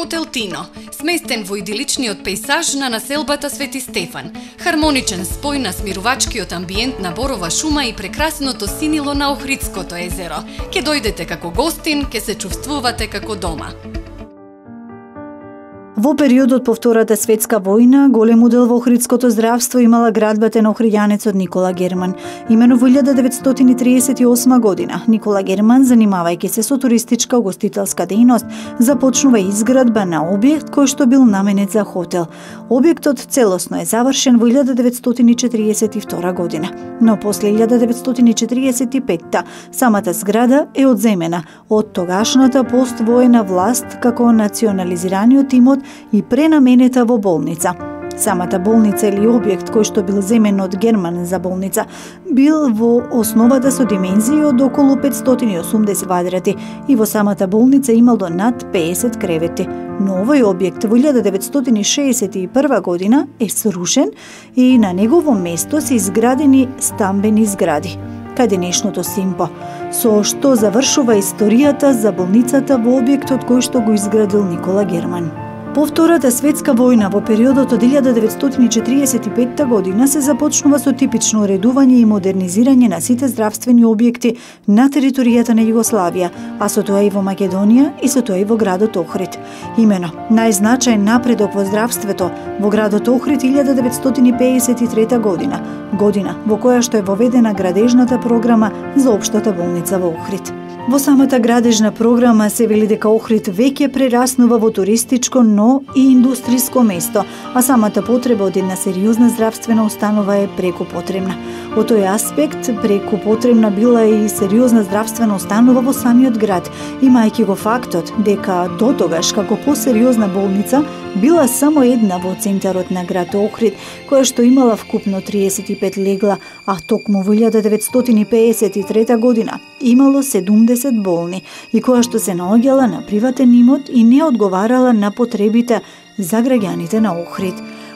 Хотел Тино, сместен во идиличниот пејзаж на населбата Свети Стефан, хармоничен спој на смирувачкиот амбиент на борова шума и прекрасното синило на Охридското езеро. Ке дојдете како гостин, ке се чувствувате како дома. Во периодот по Втората светска војна, голем удел во охридското здравство имала градбата на охријанецот Никола Герман. Имено во 1938 година, Никола Герман, занимавајќи се со туристичка угостителска дејност, започнува изградба на објект кој што бил наменет за хотел. Објектот целосно е завршен во 1942 година, но после 1945 самата зграда е одземена од тогашната поствоена власт како национализираниот имот и пренаменета во болница. Самата болница или објект кој што бил земен од Герман за болница бил во основата со димензии од околу 580 квадрати и во самата болница имал до над 50 кревети. Но овој објект во 1961 година е срушен и на негово место се изградени стамбени згради, кај денешното Симпо, со што завршува историјата за болницата во објектот кој што го изградил Никола Герман. По Втората светска војна, во периодот од 1945 година, се започнува со типично уредување и модернизирање на сите здравствени објекти на територијата на Југославија, а со тоа и во Македонија и со тоа и во градот Охрид. Имено, најзначаен напредок во здравството во градот Охрид 1953 година во која што е воведена градежната програма за општата болница во Охрид. Во самата градежна програма се вели дека Охрид веќе прераснува во туристичко, но и индустриско место, а самата потреба од една сериозна здравствена установа е преку потребна. Од тој аспект, преку потребна била и сериозна здравствена установа во самиот град, имајќи го фактот дека дотогаш како посериозна болница била само една во центарот на град Охрид, која што имала вкупно 35 легла, а токму во 1953 година имало 70 болни и која што се наоѓала на приватен имот и не одговарала на потребите за граѓаните на Охрид.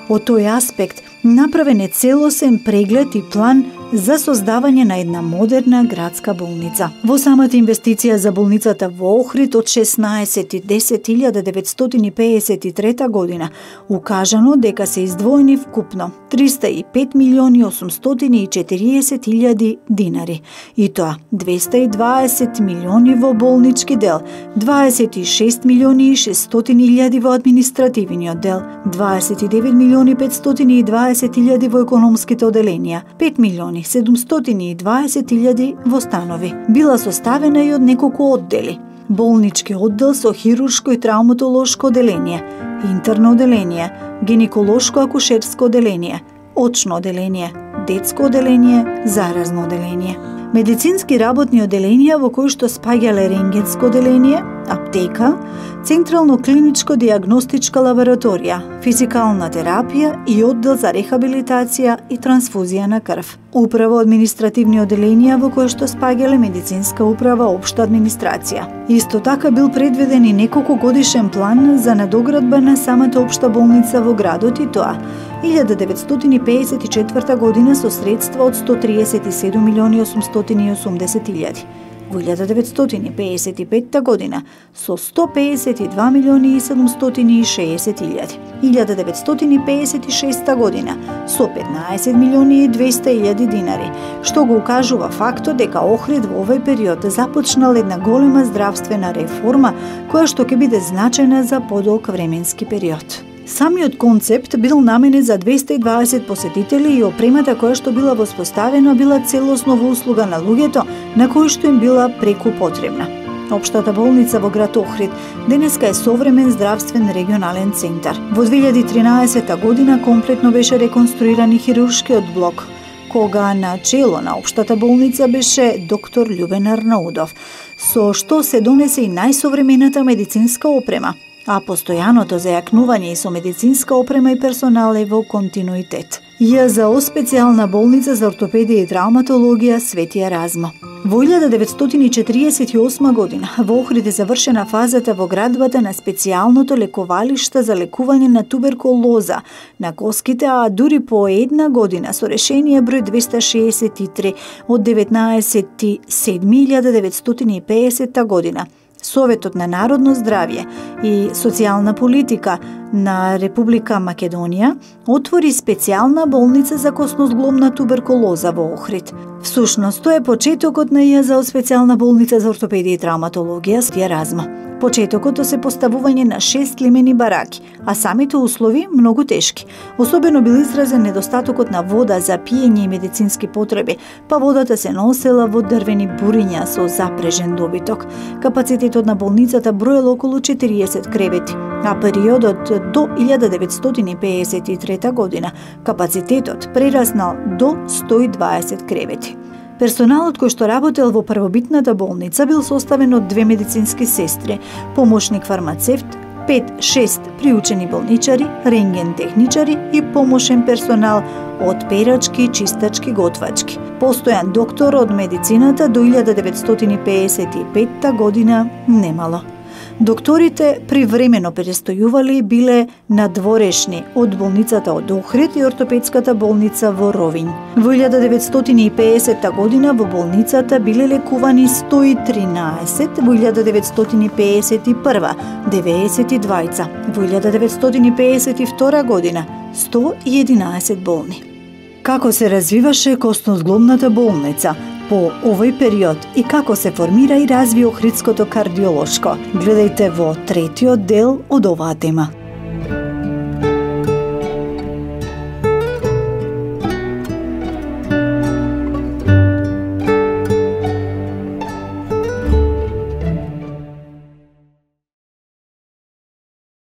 Од тој аспект направен е целосен преглед и план за создавање на една модерна градска болница. Во самата инвестиција за болницата во Охрид од 16.10.1953 година укажано дека се издвоени вкупно 305.840.000 динари, и тоа 220 милиони во болнички дел, 26.600.000 во административниот дел, 29.520.000 во економските оделенија, 5.720.000 во станови. Била составена и од неколку оддели: болнички оддел со хируршко и травматолошко оделение, интерно оделение, гинеколошко-акушерско оделение, очно оделение, детско оделение, заразно оделение. Медицински работни оделенија во кои што спаѓале рентгенско оделение, аптека, централно клиничко диагностичка лабораторија, физикална терапија и оддел за рехабилитација и трансфузија на крв. Управо административни оделенија во кои што спаѓале медицинска управа, општа администрација. Исто така бил предвиден и неколку годишен план за надоградба на самата општа болница во градот, и тоа 1954 година со средства од 137.880.000. Во 1955 година со 152.760.000. 1956 година со 15.200.000 динари, што го укажува фактот дека Охрид во овој период започнал една голема здравствена реформа која што ќе биде значајна за подолг временски период. Самиот концепт бил наменет за 220 посетители и опремата која што била воспоставена била целосно во услуга на луѓето на кои што им била преку потребна. Општата болница во град Охрид денеска е современ здравствен регионален центар. Во 2013 година комплетно беше реконструиран и хируршкиот блок, кога на чело на општата болница беше доктор Љубен Арнаудов, со што се донесе и најсовремената медицинска опрема, а постојаното зајакнување и со медицинска опрема и персонал е во континуитет. ЈЗО специјална болница за ортопедија и травматологија Свети Еразмо. Во 1948 година во Охрид е завршена фазата во градбата на специјалното лековалиште за лекување на туберкулоза на коските, а дури по една година со решение број 263 од 19.7.1950 година Советот на народно здравје и социјална политика на Република Македонија отвори специјална болница за косно-зглобна туберкулоза во Охрид. Всушност, тоа е почетокот на ИАЗ-от специјална болница за ортопедија и травматологија Стија Разма. Почетокот се поставување на 6 лимени бараки, а самите услови многу тешки. Особено бил изразен недостатокот на вода за пиење и медицински потреби, па водата се носела во дрвени буриња со запрежен добиток. Капацитетот на болницата броел околу 40 кревети, а периодот до 1953 година капацитетот прераснал до 120 кревети. Персоналот кој што работел во првобитната болница бил составен од 2 медицински сестри, помошник фармацевт, 5-6 приучени болничари, рентген техничари и помошен персонал од перачки, чистачки, готвачки. Постојан доктор од медицината до 1955 година немало. Докторите привремено престојували и биле надворешни од болницата од Охрид и ортопедската болница во Ровин. Во 1950 година во болницата биле лекувани 113, во 1951 92, во 1952 година 111 болни. Како се развиваше косно-зглобната болница по овој период и како се формира и разви Охридското кардиолошко? Гледајте во третиот дел од оваа тема.